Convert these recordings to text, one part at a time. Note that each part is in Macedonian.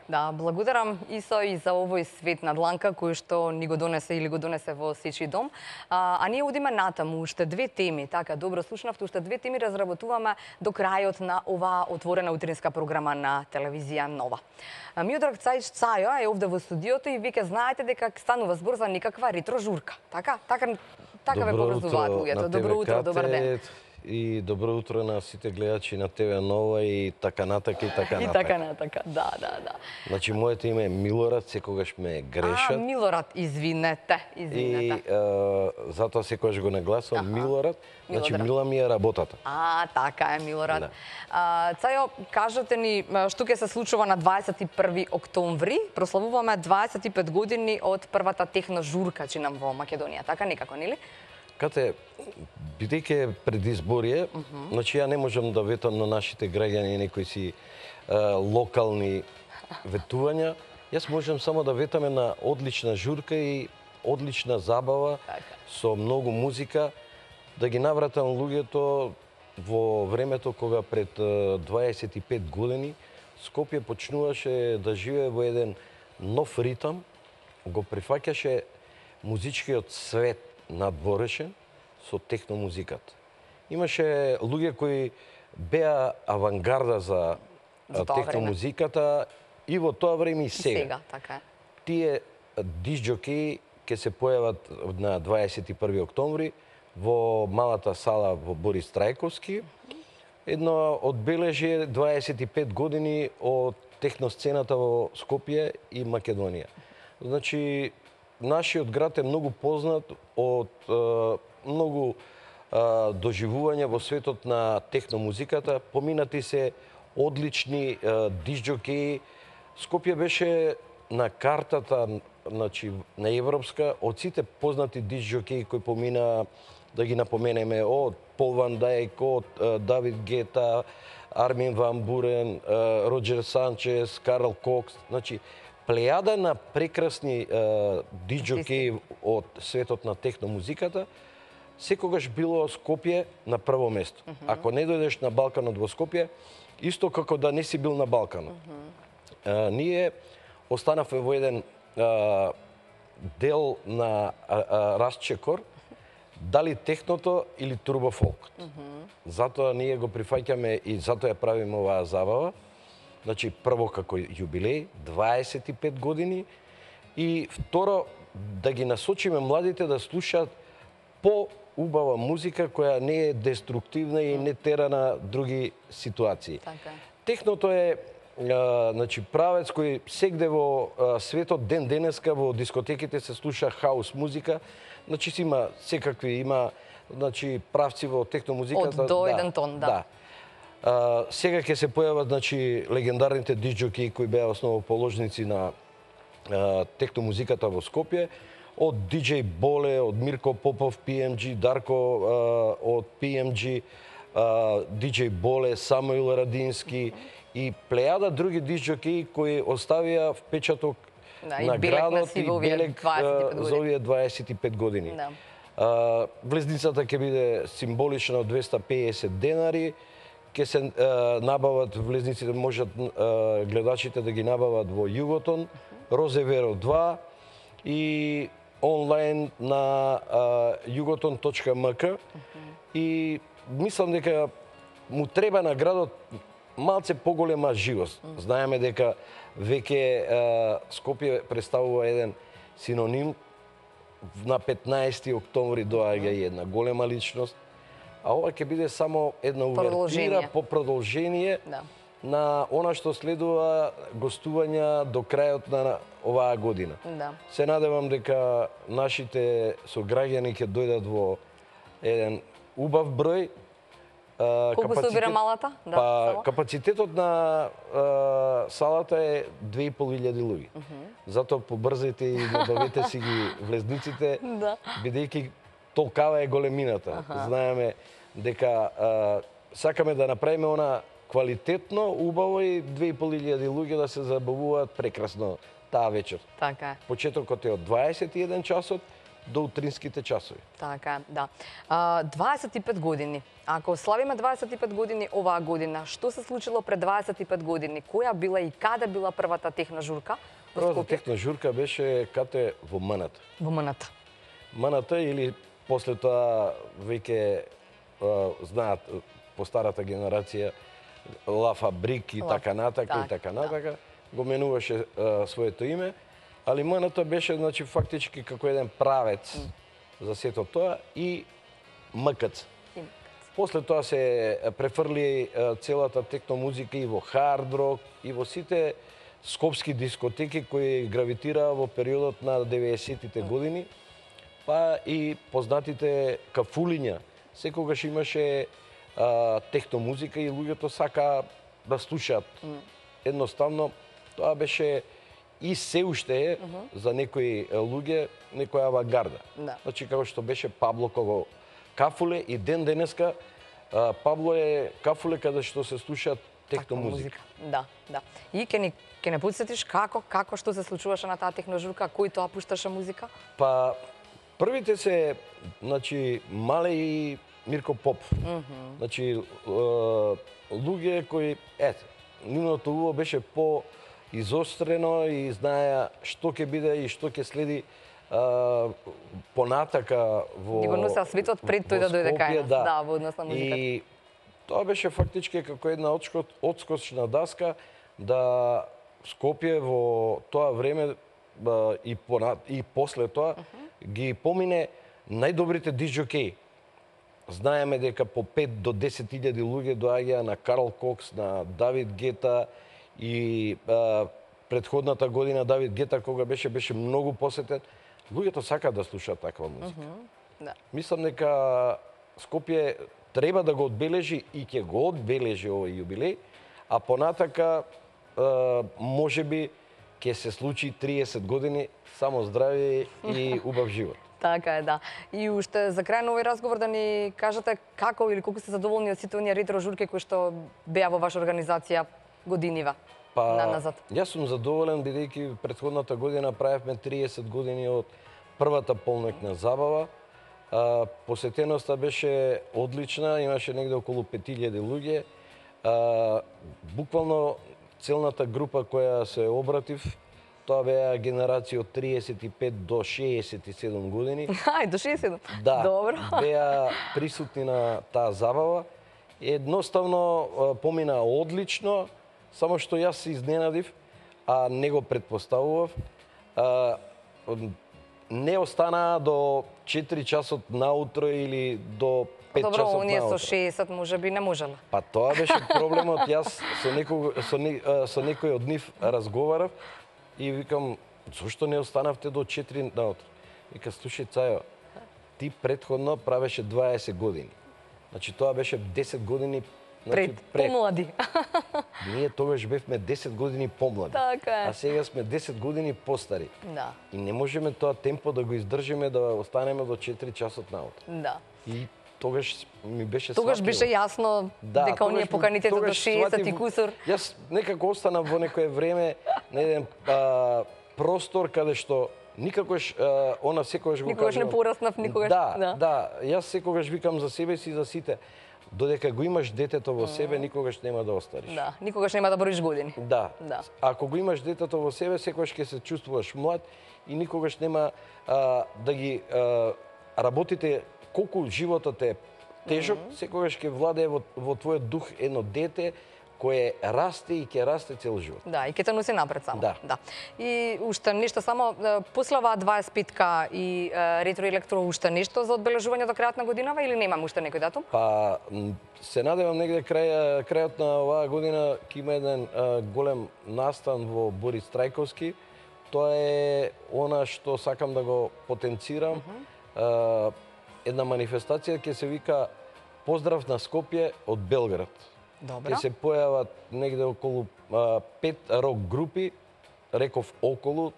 Да, благодарам Исо и за овој свет на дланка кој што ни го донесе или го донесе во сечи дом. А ние одиме натаму, уште две теми, така, добро слушнавте, уште две теми разработуваме до крајот на оваа отворена утринска програма на телевизија Нова. Миодраг Цајо е овде во студиото и веќе знаете дека станува збор за некаква ретро журка. Така ве поврзуваат луѓето. Добро утро, добар ден. И добро утро на сите гледачи на ТВ Нова и така натака и така натака. И така натака, да. Значи, моето име е Милорад, секогаш ме грешат. Милорад, извинете. И затоа секогаш го нагласувам Милорад. Значи, мила ми е работата. Така е, Милорад. Да. Цајо, кажете ни што ќе се случува на 21 октомври. Прославуваме 25 години од првата техно журка чинам во Македонија. Така некако, нели? Кате, бидејќи пред изборие, значи ја не можам да ветам на нашите граѓани некои си локални ветувања. Јас можам само да ветаме на одлична журка и одлична забава со многу музика, да ги навратам луѓето во времето кога пред 25 години Скопје почнуваше да живее во еден нов ритам, го прифаќаше музичкиот свет надворешен со техномузиката. Имаше луѓе кои беа авангарда за техномузиката и во тоа време и сега. Така е. Тие дисџокеи ќе се појават на 21 октомври во малата сала во Борис Трајковски. Едно одбележие 25 години од техносцената во Скопје и Македонија. Значи, нашиот град е многу познат од многу доживувања во светот на техномузиката. Поминати се одлични дисџокеи. Скопје беше на картата, значи, на европска, од сите познати дисџокеи кои помина, да ги напоменеме, од Пол Ван Дајк, од Давид Гета, Армин Ван Бурен, Роџер Санчес, Карл Кокс. Значи, плејада на прекрасни дисџокеи од светот на техномузиката, секогаш било Скопје на прво место. Ако не дојдеш на Балканот во Скопје, исто како да не си бил на Балканот. Ние останавме во еден дел на расчекор, дали техното или турбофолкот. Затоа ние го прифаќаме и затоа ја правиме оваа забава. Значи, прво како јубилеј, 25 години, и второ, да ги насочиме младите да слушаат по-убава музика која не е деструктивна и не тера на други ситуации. Техното е значи, правец кој сегде во светот ден денеска во дискотеките се слуша хаус музика. Значи, има секакви, има значи, правци во техномузиката. Од до еден тон, да. Сега ќе се појават, значи, легендарните дисџокеи кои беа основоположници на техномузиката во Скопје, од DJ Боле, од Мирко Попов, PMG, Дарко од PMG, DJ Боле, Самуил Радински и плејада други дисџокеи кои оставија впечаток на градот и белег за овие 25 години. Влезницата ќе биде символична од 250 денари, ќе се набават влезниците, можат гледачите да ги набават во Југотон, Розеверо 2 и онлайн на jugoton.mk. И мислам дека му треба на градот малце поголема живост. Знаеме дека веќе Скопје представува еден синоним. На 15 октомври доаѓа една голема личност, а ова ќе биде само една увертира по продолжение на она што следува гостувања до крајот на оваа година. Се надевам дека нашите сограѓани ќе дојдат во еден убав број. Колку се обира малата? Капацитетот на салата е 2500 луѓе. Затоа побрзете и набавете си ги влезниците, бидејќи толкава е големината. Знаеме дека сакаме да направиме она квалитетно, убаво и 2500 луѓе да се забавуваат прекрасно таа вечер. Така е. Почетокот е од 21 часот до утринските часови. Така, да. 25 години. Ако славиме 25 години оваа година, што се случило пред 25 години? Која била и каде била првата техна журка? Првата техна журка беше кате во МНТ. Во МНТ. МНТ или после тоа веќе знаат по старата генерација Ла Фабрик и така натака и така натака, го менуваше своето име, али МНТ беше значи фактички како еден правец за сето тоа и МКЦ. После тоа се префрли целата техно музика и во хард рок и во сите скопски дискотеки кои гравитираа во периодот на 90-тите години, па и познатите кафулиња. Секогаш имаше техно музика и луѓето сака да слушаат. Едноставно, тоа беше и се уште е за некои луѓе, некоја авангарда. Значи, како што беше Пабло кого кафуле и ден денеска Пабло е кафуле каде што се слушаат техно музика. Да, да. И ќе не потсетиш како што се случуваше на таа техно журка, кој тоа пушташе музика? Па првите се, значи, Мале и Мирко Поп. Значи, луѓе кои, нивното уво беше по-изострено и знаеа што ќе биде и што ќе следи понатака во... Ни го носеа светот пред тој да дојде кај нас, да, во однос на музиката. И тоа беше фактички како една одскочна даска да Скопје во тоа време и после тоа ги помине најдобрите дисџокеи. Знаеме дека по 5 до 10.000 луѓе доаѓаа на Карл Кокс, на Давид Гета и предходната година Давид Гета кога беше многу посетен. Луѓето сакаат да слушаат таква музика. Мислам дека Скопје треба да го одбележи и ќе го одбележи овој јубилеј, а понатака можеби ќе се случи 30 години само здравје и убав живот. Така е, да. И уште за крај на овој разговор да ни кажете како или колку сте задоволни од сите оние ретро журки кои што беа во ваша организација годинива назад? Јас сум задоволен бидејќи претходната година правевме 30 години од првата полноќна забава. Посетеноста беше одлична, имаше негде околу 5000 луѓе. Буквално целната група која се обратив, тоа беа генерација од 35 до 67 години. До 67? Да, добро. Беа присутни на таа забава. Едноставно помина одлично, само што јас се изненадив, а не го предпоставував. Не останаа до 4 часот наутро или до 5 часот наутро. Добро, оние со 60 можеби не можела. Па тоа беше проблемот. Јас со некој од нив разговарав и викам, зошто не останавте до 4 наутро? Вика, слушај, Цајо, ти предходно правеше 20 години. Значи, тоа беше 10 години пред. Помлади. Ние тогаш бевме 10 години помлади. Така е. А сега сме 10 години постари. Да. И не можеме тоа темпо да го издржиме да останеме до 4 часот наутро. Да. И тогаш ми беше Тогаш беше јасно дека оние поканите до 60 и кусур. Јас некако останав во некое време на еден простор каде што никогаш она секогаш го кажува. Никогаш не пораснав, никогаш. Да. Јас секогаш викам за себе си и за сите. Додека го имаш детето во себе, никогаш нема да остариш. Да, никогаш нема да броиш години. Да. Ако го имаш детето во себе, секогаш ќе се чувствуваш млад и никогаш нема да ги работите колку животот е тежок, секогаш ќе владее во твојот дух едно дете кое расте и ќе расте цел живот. Да, и ќе те носи напред само. Да. И уште нешто само, после оваа 25-ка и ретро електро, уште нешто за одбележување до крајот на годинава или немам уште некој датум? Па, се надевам негде крајот на оваа година ќе има еден голем настан во Борис Трајковски. Тоа е она што сакам да го потенцирам. Една манифестација ќе се вика Поздрав на Скопје од Белград. Добро. Ќе се појават негде околу 5 рок групи, реков околу,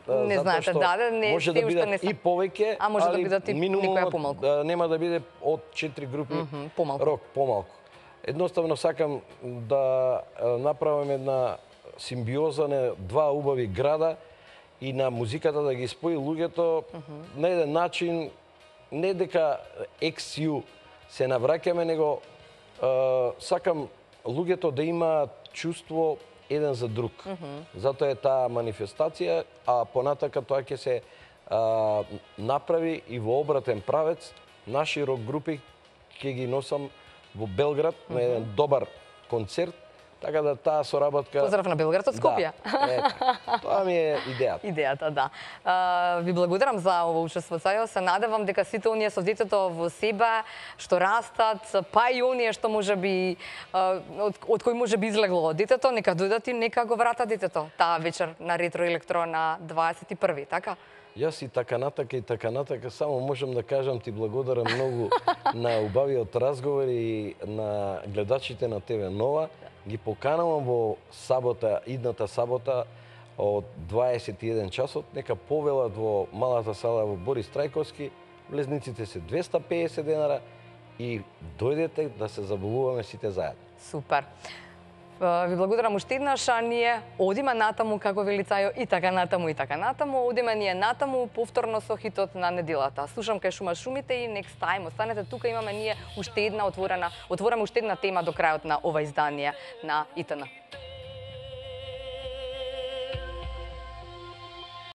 не знаете, не може да бидат и повеќе, а може да бидат и некоја помалку. Нема да биде од 4 групи рок помалку. Едноставно сакам да направам една симбиоза на два убави града и на музиката да ги спои луѓето на еден начин, не дека XU се навраќаме, него сакам луѓето да имаат чувство еден за друг. Затоа е таа манифестација, а понатака тоа ќе се направи и во обратен правец. Наши рок групи ќе ги носам во Белград на еден добар концерт, така да таа соработка... Поздрав на Белград од Скопје. Да, тоа ми е идејата. Идејата, да. Ви благодарам за ово учество. Се надевам дека сите оние со детето во себе, што растат, па и оние што можеби од кои можеби излегло детето, нека дојдат и нека го вратат детето таа вечер на Ретро Електро на 21, така? Јас и така натака, само можам да кажам ти благодарам многу на убавиот разговор и на гледачите на ТВ Нова. Ги поканувам во сабота, идната сабота од 21 часот, нека повелат во малата сала во Борис Трајковски. Влезниците се 250 денара и дојдете да се забавуваме сите заедно. Супер. Ви благодарам уште еднаш, а ние одиме натаму, како вели Цајо, и така натаму, одиме ние натаму, повторно со хитот на неделата. Слушам кај шума шумите и next time, останете тука, имаме ние уште една отворена уште една тема до крајот на ова издание на ИТН.